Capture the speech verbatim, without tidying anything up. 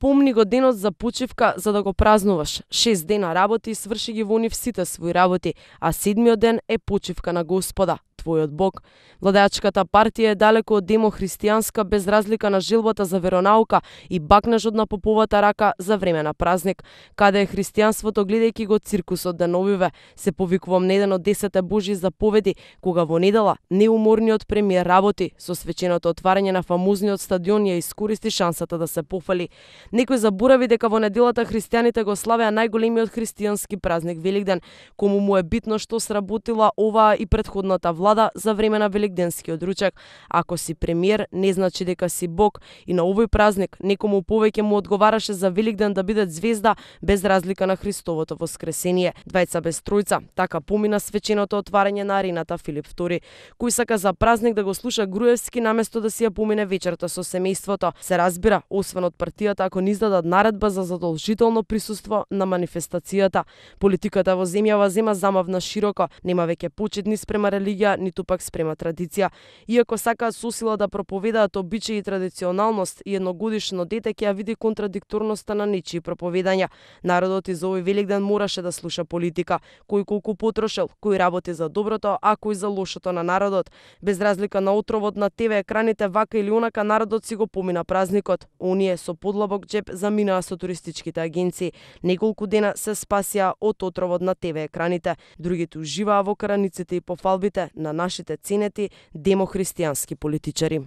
Помни го денот за почивка за да го празнуваш. Шест дена работи и сврши ги во нив сите своји работи, а седмиот ден е почивка на Господа, твојот Бог. Владеачката партија е далеко од демохристијанска без разлика на желбата за веронаука и бакнежот на поповата рака за време на празник. Каде е христијанството гледајќи го циркусот деновиве, се повикувам на еден од десете Божји заповеди, кога во недела неуморниот премиер работи со свеченото отварање на фамузниот стадион ја искористи шансата да се пофали. Некој заборави дека во неделата христијаните го славеа најголемиот христијански празник Великден, кому му е битно што сработила оваа и претходната влада за време на великденскиот ручек. Ако си премиер, не значи дека си Бог, и на овој празник некому повеќе му одговараше за Великден да биде звезда без разлика на Христовото воскресение. Двајца без тројца, така помина свеченото отварање на арената Филип втори. Кој сака за празник да го слуша Груевски наместо да си ја помине вечерта со семејството. Се разбира, освен од партијата, ако не издадат наредба за задолжително присуство на манифестацијата. Политиката во земјава зема замавна широко, нема веќе почит ни спрема религија, ниту пак спрема традиција. Иако сакаат со сила да проповедаат обичаи и традиционалност, и едногодишно дете ќе ја види контрадикторноста на нечии проповедања. Народот и за овој Великден мораше да слуша политика, кој колку потрошел, кој работи за доброто, а кој за лошото на народот. Без разлика на отровот на те ве екраните, вака или онака народот си го помина празникот. Оние со подлабок джеб заминаа со туристичките агенции. Неколку дена се спасија од отровот на те ве екраните. Другите уживаа во караниците и пофалбите на нашите ценети демохристијански политичари.